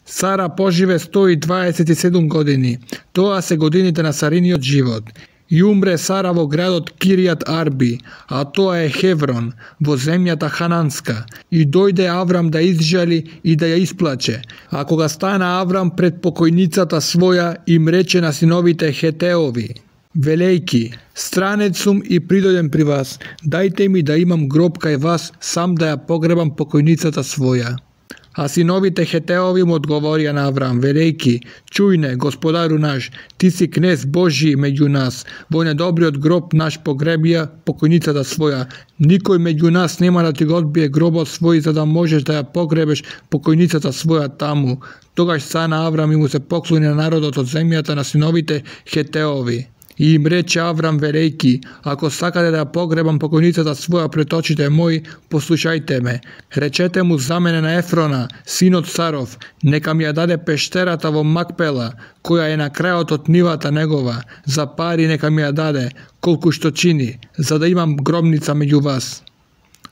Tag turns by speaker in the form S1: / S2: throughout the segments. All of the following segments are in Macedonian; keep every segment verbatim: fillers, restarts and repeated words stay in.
S1: Сара поживе сто и дваесет и седум години. Тоа се годините на Сариниот живот. И умре Сара во градот Киријат Арби, а тоа е Хеврон, во земјата Хананска. И дојде Аврам да изжали и да ја исплаче. А кога стана Аврам пред покојницата своја, им рече на синовите Хетеови: велејки, странец сум и придојдем при вас, дајте ми да имам гроб кај вас, сам да ја погребам покојницата своја. А синовите Хетеови му одговорија на Аврам, велејки: чујне, господару наш, ти си кнез Божи меѓу нас, во недобриот гроб наш погребија покојницата своја. Никој меѓу нас нема да ти го одбие гробот свој, за да можеш да ја погребеш покојницата своја таму. Тогаш стана Аврам и му се поклони на народот од земјата на синовите Хетеови. И им рече Аврам, велејки: ако сакате да ја погребам покојницата своја пред очите мои, послушајте ме. Речете му за мене на Ефрона, синот Саров, нека ми ја даде пештерата во Макпела, која е на крајот од нивата негова, за пари нека ми ја даде, колку што чини, за да имам гробница меѓу вас.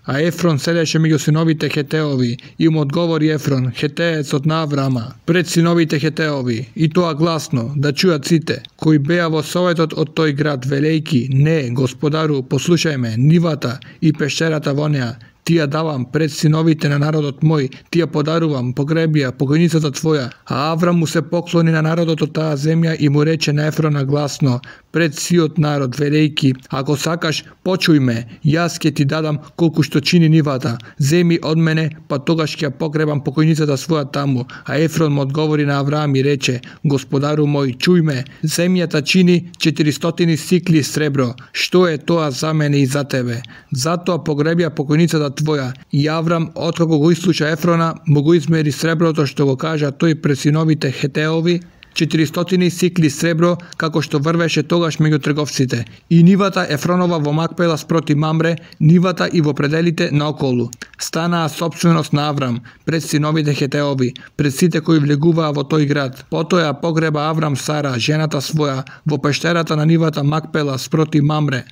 S1: А Ефрон седеше меѓу синовите Хетеови, и му одговори Ефрон, хетеецот на Аврама, пред синовите Хетеови, и тоа гласно, да чујат сите, кои беа во советот од тој град, велејки: не, господару, послушај ме, нивата и пештерата во неа, ти ја давам пред синовите на народот мој, ти ја подарувам, погребија покојницата твоја. А Аврам му се поклони на народот од таа земја и му рече на Ефрона гласно, пред сиот народ, велејки: ако сакаш, почуј ме, јас ќе ти дадам колку што чини нивата, земи од мене, па тогаш ќе ја погребам покојницата своја таму. А Ефрон му одговори на Авраам и рече: господару мој, чуј ме, земјата чини четиристотини сикли сребро, што е тоа за мене и за тебе? Затоа погребија покојницата твоја. И Аврам, откако го ислуша Ефрона, му го измери среброто што го кажа тој пред синовите Хетеови, четиристотини сикли сребро, како што врвеше тогаш меѓу трговците. И нивата Ефронова во Макпела спроти Мамре, нивата и во пределите наоколу. Станаа сопственост на Аврам, пред синовите Хетеови, пред сите кои влегуваа во тој град. Потоа ја погреба Аврам Сара, жената своја, во пештерата на нивата Макпела спроти Мамре.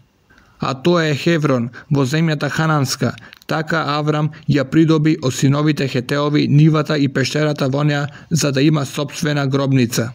S1: А тоа е Хеврон, во земјата Хананска. Така Аврам ја придоби од синовите Хетеови нивата и пештерата во неа, за да има сопствена гробница.